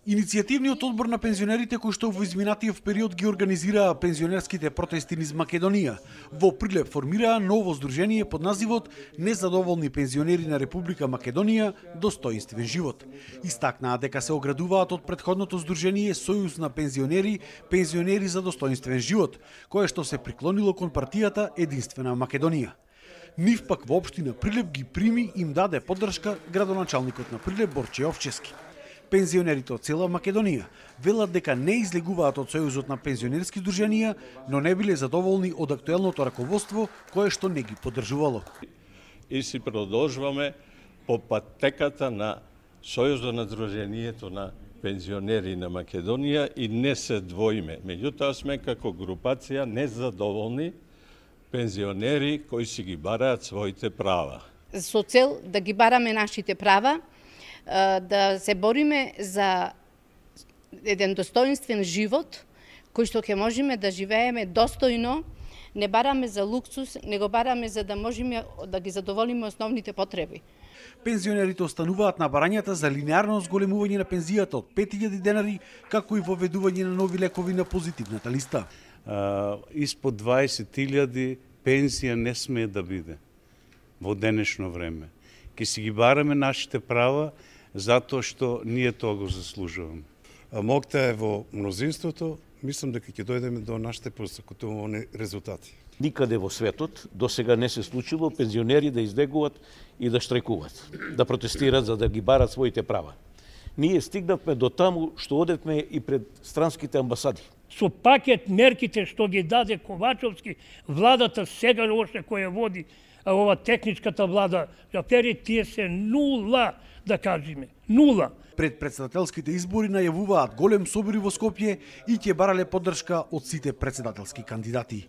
Иницијативниот одбор на пензионерите кој што во изминатиот период ги организираа пензионерските протести низ Македонија, во Прилеп формираа ново здружение под називот Незадоволни пензионери на Република Македонија достоинствен живот. Истакнаа дека се оградуваат од претходното здружение Сојуз на пензионери, пензионери за достоинствен живот, кое што се приклонило кон партијата Единствена Македонија. Нив пак во општина Прилеп ги прими и им даде поддршка градоначалникот на Прилеп Борче Овчевски. Пензионерите од цела Македонија велат дека не излегуваат од Сојузот на пензионерски здруженија, но не биле задоволни од актуелното раководство кое што не ги поддржувало. И си продолжуваме по патеката на Сојузот на здруженијето на пензионери на Македонија и не се двоиме. Меѓутоа сме како групација незадоволни пензионери кои си ги бараат своите права. Со цел да ги бараме нашите права, да се бориме за еден достоинствен живот, кој што ќе можеме да живееме достојно, не бараме за луксус, него бараме за да можеме да ги задоволиме основните потреби. Пензионерите остануваат на барањата за линеарно зголемување на пензијата од 5000 денари, како и воведување на нови лекови на позитивната листа. Испод 20.000 пензија не смее да биде во денешно време. Ке си ги бараме нашите права, затоа што ние тоа го заслужуваме. Могта е во мнозинството, мислам дека ќе дојдеме до нашите посакувани резултати. Никаде во светот досега не се случило пензионери да излегуваат и да штрекуваат, да протестираат за да ги барат своите права. Ние стигнавме до таму што одевме и пред странските амбасади. Со пакет мерките што ги даде Ковачовски, владата сега оште која води ова техничката влада, афери тие се нула, да кажеме, нула. Пред председателските избори најавуваат голем собори во Скопје и ќе барале поддршка од сите председателски кандидати.